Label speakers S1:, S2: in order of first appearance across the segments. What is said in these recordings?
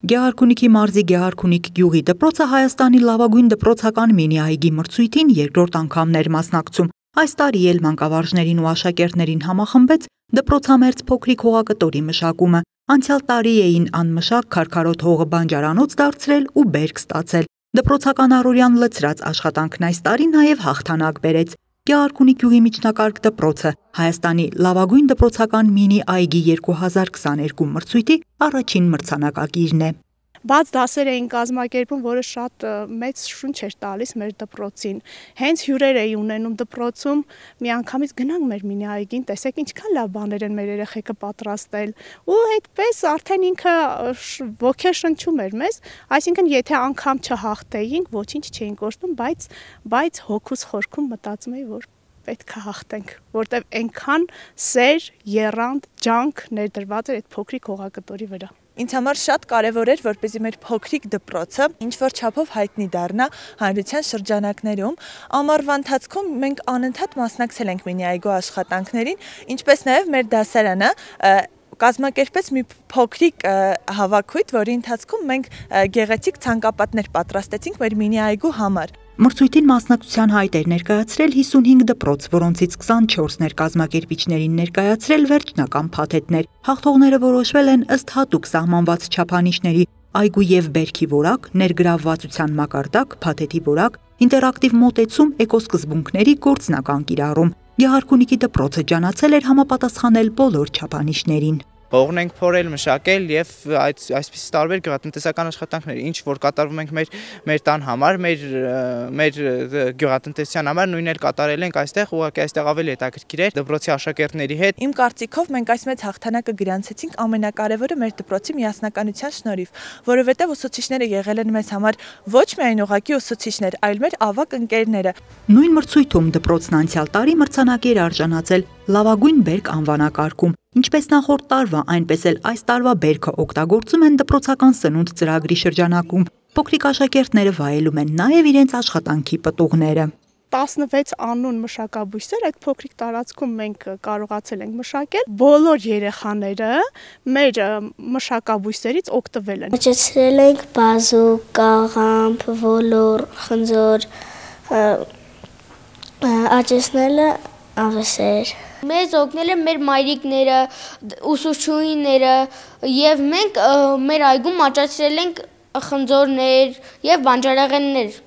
S1: Գեղարքունիքի մարզի Գեղարքունիք գյուղի դպրոցը Հայաստանի լավագույն դպրոցական մինի այգի մրցույթին երկրորդ անգամն էր մասնակցում։ Այս տարի էլ մանկավարժներին ու աշակերտներին համախմբեց դպրոցամերձ փոքրիկ հողակտորի մշակումը։ Անցյալ տարի էին անմշակ քարքարոտ հողը բանջարանոց դարձրել ու բերք ստացել։ Դպրոցական առօրյան լցրած աշխատանքն այս տարի նաև հաղթանակ բերեց։ Գեղարքունիք գյուղի միջնակարգ դպրոցը Հայաստանի լավագույն դպրոցական մինի այգի 2022 մրցույթի առաջին մրցանակակիրն է։
S2: Բաց դասեր էին կազմակերպում, որը շատ մեծ շունչ էր տալիս մեր դպրոցին։ Հենց հյուրեր էի ունենում դպրոցում, միանգամից գնանք մեր մինի այգին, տեսեք ինչքան լավ բաներ են մեր երեխեքը պատրաստել։ Ու այդպես արդեն ինքը ոգեշնչում էր մեզ, այսինքն եթե անգամ չհաղթեինք, ոչինչ չէին կորցնում, բայց հոգուս խորքում մտածում էի, որ պետք է հաղթենք, որտեվ այնքան սեր, եռանդ, ջանք ներդրված էր այդ փոքրիկ հողակտորի վրա։
S3: Ինձ համար շատ կարևոր էր, որպեսզի մեր փոքրիկ դպրոցը ինչ-որ չափով հայտնի դառնա հանրության շրջանակներում։ Ամառվա ընթացքում մենք անընդհատ մասնակցել ենք մինի այգու աշխատանքներին, ինչպես նաև մեր դասարանը կազմակերպեց մի փոքրիկ հավաքույթ, որի ընթացքում մենք գեղեցիկ ցանկապատներ պատրաստեցինք մեր մինի այգու համար։
S1: Մրցույթին մասնակցության հայտ էր ներկայացրել 55 դպրոց, որոնցից 24-ն էր կազմակերպիչներին ներկայացրել վերջնական փաթեթներ։ Հաղթողները որոշվել են ըստ հատուկ սահմանված չափանիշների՝ այգու եւ բերքի որակ, ներգրավվածության մակարդակ, փաթեթի որակ, ինտերակտիվ մոտեցում, էկոսկզբունքների գործնական կիրառում։ Գեղարքունիքի դպրոցը ջանացել էր համապատասխանել բոլոր չափանիշներին։
S4: Հողն ենք փորել, մշակել եւ այսպիսի տարբեր գյուղատնտեսական աշխատանքներ, ինչ որ կատարվում ենք մեր տան համար, մեր գյուղատնտեսության համար, նույնն էլ կատարել ենք այստեղ, ուղղակի այստեղ ավելի հետաքրքիր էր դպրոցի աշակերտների հետ։
S3: Իմ կարծիքով մենք այս մեծ հաղթանակը գրանցեցինք ամենակարևորը մեր դպրոցի միասնականության շնորհիվ, որովհետեւ ուսուցիչները եղել են մեզ համար ոչ միայն ուղղակի ուսուցիչներ, այլ մեր ավագ ընկերները։
S1: Նույն մրցույթում դպրոցն անցյալ տարի մրցանակի էր արժանացել լավագույն բերք անվանակարգում։ Ինչպես նախորդ տարվա, այնպես էլ այս տարվա բերքը օգտագործում են դպրոցական սնունդ ծրագրի շրջանակում։ Փոքրիկ աշակերտները վայելում են նաև իրենց աշխատանքի պտուղները։
S2: 16 անուն մշակաբույսեր այդ փոքրիկ տարածքում մենք կարողացել ենք մշակել։ Բոլոր երեխաները մեր մշակաբույսերից օգտվել են։
S5: Մշակել ենք բազուկ, կաղամբ, ոլոր, խնձոր, աճեցնելը աղեսեր։
S6: Մեզ օգնել են մեր մայրիկները, ուսուցչուհիները եւ մենք մեր այգում աճացրել ենք խնձորներ եւ բանջարեղեններ։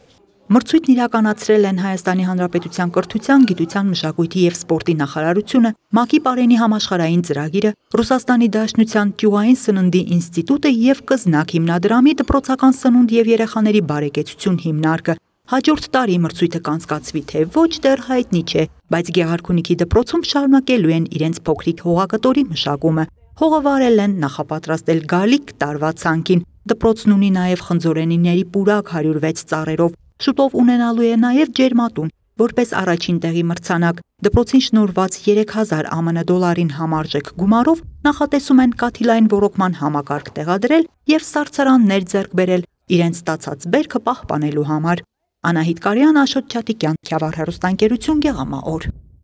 S1: Մրցույթն իրականացրել են Հայաստանի Հանրապետության կրթության, գիտության, մշակույթի եւ սպորտի նախարարությունը, ՄԱԿ-ի Պարենի համաշխարհային ծրագիրը, Ռուսաստանի Դաշնության ճյուղային սննդի ինստիտուտը եւ Կզնակ հիմնադրամի դպրոցական սնունդ եւ երեխաների բարեկեցություն հիմնարկը։ Հաջորդ տարի մրցույթը կանցկացվի թե ոչ դեռ հայտնի չէ, բայց Գեղարքունիքի դպրոցում շարունակելու են իրենց փոքրիկ հողակտորի մշակումը։ Հողը վարել են, նախապատրաստել գալիք տարվա ցանկին։ Դպրոցն ունի նաև խնձորենիների պուրակ 106 ծառերով։ Շուտով ունենալու է նաև ջերմատուն, որպես առաջին տեղի մրցանակ։ Դպրոցին շնորհված 3000 ԱՄՆ դոլարին համարժեք գումարով նախատեսում են կաթիլային ոռոգման համակարգ տեղադրել եւ սառցարաններ ձեռք բերել իրենց ստացած բերքը պահպանելու համար։ Անահիտ Կարյան, Աշոտ Չատիկյան, Քյավառ հեռուստաընկերություն, Գեղամա օր։